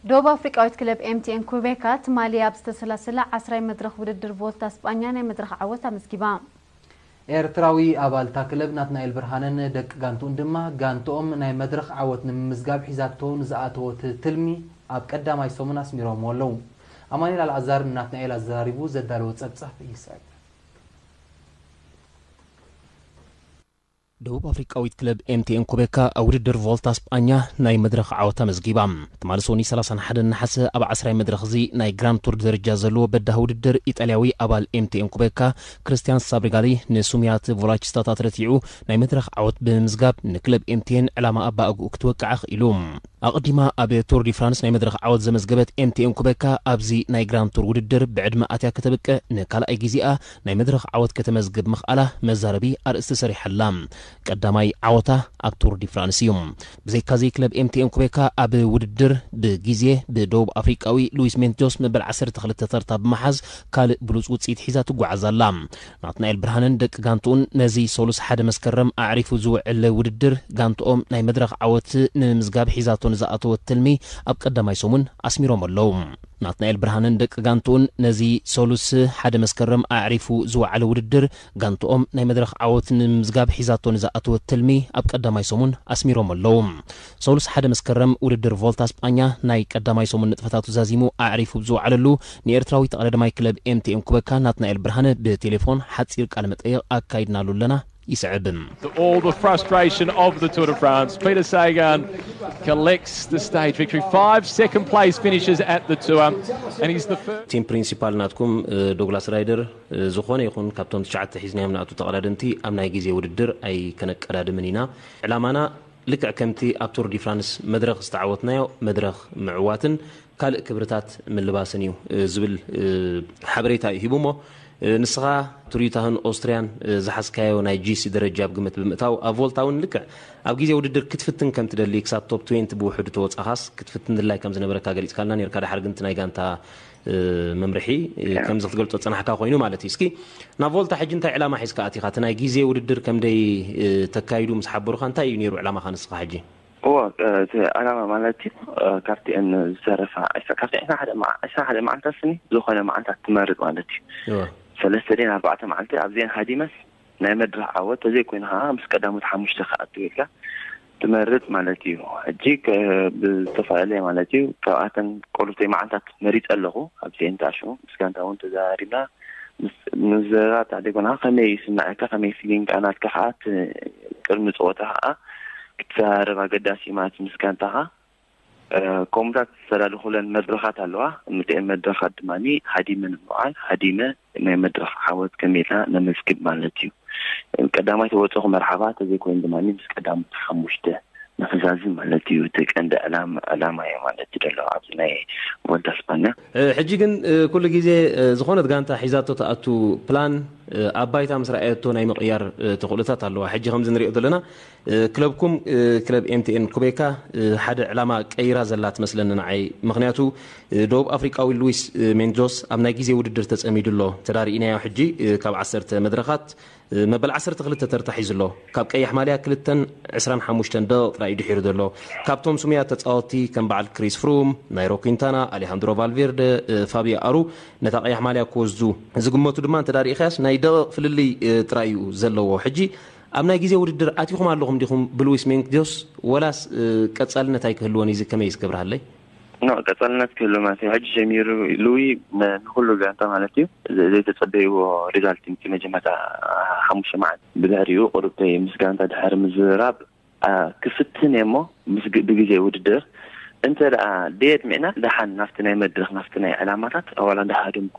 ደቡብ ኣፍሪቃዊት ክለብ ኤምቲኤን ኩቤካ ትማሊ ኣብ ዝተሰላሰለ ዓስራይ መድረኽ ውድድር ቮልታ ስጳኛ ናይ መድረኽ ዓወት ኣመዝጊባ። ኤርትራዊ ኣባል እታ ክለብ ናትናኤል ብርሃነን ደቂ ጋንትኡን ድማ፣ ጋንትኦም ናይ መድረኽ ዓወት ንምምዝጋብ ሒዛቶ ንዝኣተወት ትልሚ ኣብ ቀዳማይ ሰሙን ኣስሚሮምዎ ኣለዉ። ኣማኑኤል ኣልኣዛር ንናትናኤል ኣዘራሪቡ ዘዳለዎ ጸብጻብ ይስዕብ። ደቡብ ኣፍሪቃዊት ክለብ ኤምቲኤን ኩቤካ ኣብ ውድድር ቮልታ ስጳኛ ናይ መድረኽ ዓወት ኣመዝጊባ። ትማሊ ሰኑይ ሰላሳን ሓደን ነሓሰ ኣብ ዓስራይ መድረኽ እዚ ናይ ግራንድ ቱር ደረጃ ዘለዎ በዳሂ ውድድር፣ ኢጣልያዊ ኣባል ኤምቲኤን ኩቤካ ክርስቲያን ሳብሪጋሊ ንሱሚያት ቮላቺስታታት ረቲዑ ናይ መድረኽ ዓወት ብምምዝጋብ፣ ንክለብ ኤምቲኤን ዕላማ ኣባእግኡ ክትወቅዕ ኣኽኢሉ። ኣቐዲማ ኣብ ቱር ዲ ፍራንስ ናይ መድረኽ ዓወት ዘመዝገበት ኤምቲኤን ኩቤካ፣ ኣብዚ ናይ ግራንድ ቱር ውድድር ብዕድመ ኣትያ ከተብቅዕ ንካልኣይ ግዜኣ ናይ መድረኽ ዓወት ከተመዝግብ ምኽኣላ መዛረቢ ኣርእስቲ ሰሪሓላ። ቀዳማይ ዓወታ ኣብ ቱር ዲ ፍራንስ እዩ። ብዘይካዚ ክለብ ኤምቲኤን ኩቤካ ኣብ ውድድር ብግዜ ብደቡብ ኣፍሪቃዊ ሉዊስ ሜንቶስ መበል ዓሰርተ ክልተ ተርታ ብምሓዝ ካልእ ብሉጽ ውጽኢት ሒዛ ትጓዓዝ ኣላ። ናትናኤል ብርሃነን ደቂ ጋንትኡን ነዚ ሰሉስ ሓደ መስከረም ኣዕሪፉ ዝውዕል ውድድር፣ ጋንትኦም ናይ መድረኽ ዓወት ንምምዝጋብ ሒዛቶ ንዝኣተወት ትልሚ ኣብ ቀዳማይ ሰሙን ኣስሚሮም ኣለዉ። ናትናኤል ብርሃነን ደቂ ጋንትኡን ነዚ ሰሉስ ሓደ መስከረም ኣዕሪፉ ዝወዓለ ውድድር፣ ጋንትኦም ናይ መድረኽ ዓወት ንምምዝጋብ ሒዛቶ ንዝኣተወት ትልሚ ኣብ ቀዳማይ ሰሙን ኣስሚሮም ኣለዉ። ሰሉስ ሓደ መስከረም ውድድር ቮልታ ስጳኛ ናይ ቀዳማይ ሰሙን ንጥፈታቱ ዛዚሙ ኣዕሪፉ ብዝወዓለሉ፣ ንኤርትራዊ ተቐዳዳማይ ክለብ ኤምቲኤን ኩቤካ ናትናኤል ብርሃነ ብቴሌፎን ሓጺር ቃለ መጠይቕ ኣካይድናሉ ኣለና። ይስዕብ። All the frustration of the Tour de France. Peter Sagan collects the stage victory. Five second place finishes at the Tour, and he's the first. ቲም ፕሪንሲፓል ናትኩም እ፣ ዶግላስ ራይደር እ፣ ዝኾነ ይኹን ካብቶም ትሽዓተ ሒዝናዮም ንኣቱ ተቐዳደምቲ ኣብ ናይ ግዜ ውድድር ኣይከነቀዳድምን ኢና። ዕላማና ልክዕ ከምቲ ኣብ ቱር ዲ ፍራንስ መድረኽ ዝተዓወትናዮ መድረኽ ምዕዋትን ካልእ ክብርታት ምልባስን እዩ እ፣ ዝብል እ፣ ሓበሬታ እዩ ሂቡ። እሞ እ፣ ንስኻ ቱር ዩታህን ኦስትርያን እ፣ ዝሓዝካዮ ናይ ጂሲ ደረጃ ኣብ ግምት ብምእታው፣ ኣብ ቮልታ እውን ልክዕ ኣብ ግዜ ውድድር ክትፍትን ከም ትደሊ፣ ክሳብ ቶፕ ትዌንቲ ብውሕዱ ተወጻኻስ ክትፍትን ድላይ ከም ዝነበረካ ገሊጽካልና ነርካ። ድሓር ግን እቲ ናይ ጋንታ እ፣ መምርሒ እ፣ ከምዚ ክትገልጾ ዝጸናሕካ ኮይኑ ማለት እዩ። እስኪ ናብ ቮልታ ሕጂ እንታይ ዕላማ ሒዝካ ኣቲኻ? እቲ ናይ ግዜ ውድድር ከምደይ እ፣ ተካይዱ ምስ ሓበሩኻ እንታይ እዩ ነይሩ ዕላማኻ ንስኻ ሕጂ? እዎ፣ እቲ ዕላማ ማለት እዩ፣ ካብቲኤን ዝተረፋ ዕስራ፣ ካብቲ ዕስራ ሓደ መዓ-፣ ዕስራ ሓደ መዓልታት ስኒ ዝኾነ መዓልታት ትመርጥ ማለት እዩ። እዎ። ሰለስተ ደን ኣርባዕተ መዓልቲ ኣብዚኤን ሃዲመስ ናይ መድረኽ ዓወት ተዘይኮይኑ ከዓ ምስ ቀዳሞት ሓሙሽተ ክኣቱ ኢልካ ትመርጥ ማለት እዩ። ሕጂ ከ-፣ ብዝተፈላለየ ማለት እዩ፣ ካብኣተን ቆልብተይ መዓልታት መሪጸ ኣለኹ። ኣብዚኤን ተኣሽሙ ምስ ጋንታ እውን ተዘራሪብና፣ ምስ፣ ምስ ዘረባ ተዓዲጎና ከመይ ይስምዐካ፣ ከመይ ፊሊንግ ናትካ ከዓ ት-፣ ቅድሚ ፀወታ ከዓ ክትዘራረብ ኣገዳሲ እዩ ማለት ምስ ጋንታኻ። እ፣ ከምኡታት ዝተዳለኹለን መድረኻት ኣለዋ። እምትኤን መድረኻት ድማ ሃዲመ ንምውዓል፣ ሃዲመ ናይ መድረኽ ዓወት ከመይ ኢልና ነመዝግብ ማለት እዩ። ቀዳማይ ተወፀኹ መርሓባ፣ ተዘይኮይኑ ድማ ምስ ቀዳሞት ሓሙሽተ ንኽዛዝም ማለት እዩ። እቲ ቀንዲ ዕላም-፣ ዕላማ እዩ ማለት እዩ ዘሎ ኣብዚ ናይ ቮልታ ስፓኛ። እ፣ ሕጂ ግን እ፣ ኩሉ ግዜ እ፣ ዝኾነት ጋንታ ሒዛቶ ትኣቱ ፕላን እ፣ ኣብ ባይታ ምስ ረኣየቶ ናይ ምቕያር እ፣ ተኽእሎታት ኣለዋ። ሕጂ ከምዚ ንሪኦ ዘለና እ፣ ክለብኩም እ፣ ክለብ ኤምቲኤን ኩቤካ እ፣ ሓደ ዕላማ ቀይራ ዘላ ትመስለኒ ንዓይ። ምኽንያቱ እ፣ ደቡብ ኣፍሪቃዊ ሉዊስ እ፣ ሜንዶስ ኣብ ናይ ግዜ ውድድር ተጸሚዱ ኣሎ። ተዳሪእናዮ ሕጂ እ፣ ካብ ዓሰርተ መድረኻት እ፣ መበል ዓሰርተ ክልተ ተርታ ሒዙ ኣሎ። ካብ ቀያሕ ማልያ ክልተን ዕስራን ሓሙሽተን ደቂቕ ጥራይ እዩ ድሒሩ ዘሎ። ካብቶም ስሙያት ተጻወትቲ ከም በዓል ክሪስ ፍሩም፣ ናይሮ ኲንታና፣ ኣሌሃንድሮ ቫልቬርደ፣ እ፣ ፋቢዮ ኣሩ ነታ ቀያሕ ማልያ ክወስዱ ዝግመቱ ድማ እንተ ርኢኻያስ ናይ ደቂቕ ፍልልይ እ፣ ጥራይ እዩ ዘለዎ። ሕጂ ኣብ ናይ ግዜ ውድድር ኣቲኹም ኣለኹም ዲኹም ብሉዊስ ሜንዶስ፣ ወላስ እ፣ ቀጻልነት ኣይክህልዎን እዩ? እዚ ከመይ እዩ እስከ ብርሃለይ? ኖ፣ ቀጻልነት ክህሉ ማለት እዩ። ሕጂ ጀሚሩ ሉዊ ን-፣ ንኹሉ ጋንታ ማለት እዩ ዘ-፣ ዘይተጸበይዎ ሪዛልት እዩ። እቲ መጀመርታ ሓሙሽተ መዓልቲ ብድሕሪኡ ቁሩብተይ ምስ ጋንታ ድሕሪ ምዝርራብ፣ ኣ፣ ክፍትን እየ እሞ ምስ ግ-፣ ብግዜ ውድድር እንተ ደኣ ደየጥሚዕና ደሓን ናብቲ ናይ መድረኽ ናብቲ ናይ ዕላማታት ዋላ እንዳሃደምኩ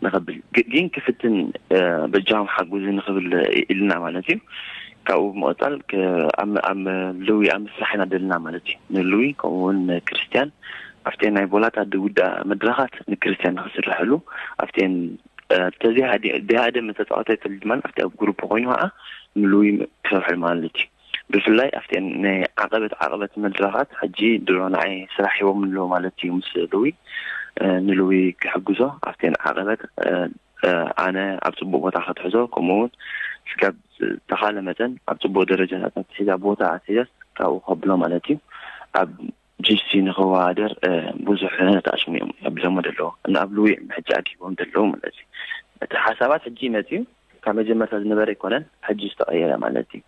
ንኸብል ግ-፣ ግን ክፍትን እ፣ በጃኹም ሓጉዚ ንኽብል ኢልና ማለት እዩ። ካብኡ ብምቕጻል ክ-፣ ኣብ፣ ኣብ ልዊ ኣብ ምስራሕ ኢና ደልና ማለት እዩ። ንልዊ ከምኡ እውን ንክርስትያን ኣብተን ናይ ቮላታ ድውዳ መድረኻት ንክርስትያን ንኽስርሐሉ ኣብተን እ፣ ተዚሃዲ-፣ ደሃደ መተጻወታይ ተልድማን ኣብቲ ኣብ ግሩፕ ኮይኑ ከዓ ንልዊ ክሰርሐሉ ማለት እዩ። ብፍላይ ኣብተን ናይ ዓቐበት ዓቐበት መድረኻት ሕጂ ድሮ ንዓይ ስራሕ ሂቦም ኣለዉ ማለት እዩ። ምስ ልዊ እ፣ ንልዊ ክሕግዞ ኣብተን ዓቐበት እ፣ እ፣ ኣነ ኣብ ጽቡቕ ቦታ ክትሕዞ፣ ከምኡ እውን ስጋብ ዝተኻለ መጠን ኣብ ጽቡቕ ደረጃታት ኣትሒዛ ቦታ ኣትሒዛስ ካብኡ ከብሎ ማለት እዩ። ኣብ ጂሲ ንኸወዳደር ብዙሕ ነታሽሙ እዮም ኣብሎሞ ዘለዉ። ንኣብሉ እዮም ሕጂ ኣኪቦም ዘለዉ ማለት እዩ። እቲ ሓሳባት ሕጂ መፅዩ ካብ መጀመርታ ዝነበረ ኣይኮነን፣ ሕጂ ዝተቐየረ ማለት እዩ።